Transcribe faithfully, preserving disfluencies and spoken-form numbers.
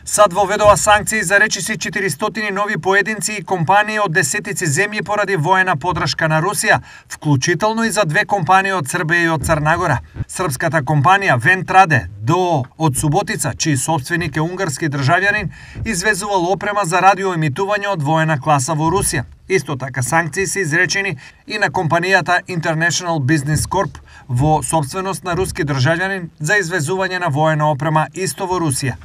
САД воведува санкции за речиси четиристотини нови поединци и компании од десетици земји поради воена подршка на Русија, вклучително и за две компании од Србија и од Црна Гора. Српската компанија Вентраде ДОО од Суботица, чиј сопственик е унгарски државјанин, извезувал опрема за радиоемитување од воена класа во Русија. Исто така санкции се изречени и на компанијата International Business Corp во сопственост на руски државјанин за извезување на воена опрема исто во Русија.